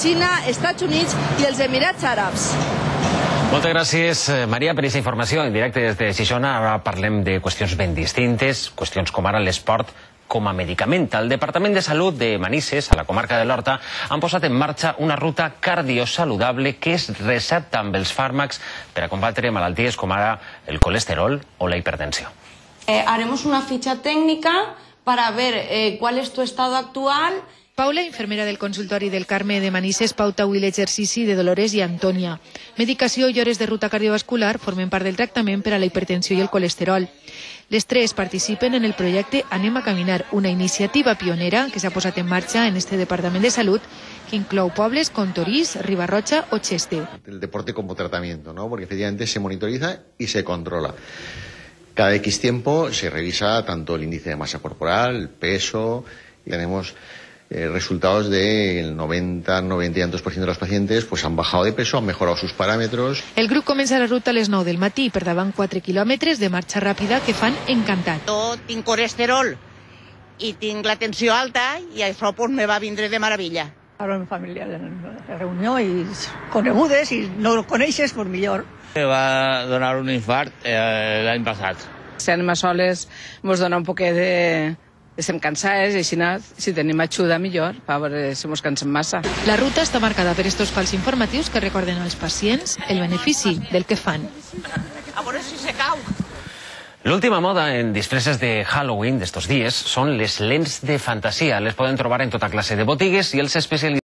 Xina, Estats Units i els Emirats Àrabs. Moltes gràcies, Maria, per aquesta informació. En directe des de Xixona, ara parlem de qüestions ben distintes, qüestions com ara l'esport com a medicament. El Departament de Salut de Manises, a la comarca de l'Horta, han posat en marxa una ruta cardiosaludable que es recepta amb els fàrmacs per a combatre malalties com ara el colesterol o la hipertensió. Haremos una ficha técnica para ver cuál es tu estado actual. Paula, infermera del consultori del Carme de Manises, pauta avui l'exercici de Dolores i Antònia. Medicació i hores de ruta cardiovascular formen part del tractament per a la hipertensió i el colesterol. Les tres participen en el projecte Anem a Caminar, una iniciativa pionera que s'ha posat en marxa en este Departament de Salut, que inclou pobles com Torís, Ribarroja o Cheste. El deporte como tratamiento, ¿no? Porque efectivamente se monitoriza y se controla. Cada X tiempo se revisa tanto el índice de masa corporal, el peso, y tenemos resultados del 90 y tantos % de los pacientes pues han bajado de peso, han mejorado sus parámetros. El grup comença la ruta a les 9 del matí per davant 4 quilòmetres de marxa ràpida que fan encantat. Jo tinc colesterol i tinc la tensió alta i això pues, me va vindre de meravella. Ara una família de reunió i conegudes i no coneixes, pues millor. Me va donar un infart l'any passat. Si anem a soles ens dona un poquet de... Estem cansades i així, si tenim ajuda millor, per veure si ens cansem massa. La ruta està marcada per estos fals informatius que recorden als pacients el benefici del que fan. A veure si se cau. L'última moda en disfresses de Halloween d'estos dies són les lents de fantasia. Les poden trobar en tota classe de botigues i els especialistes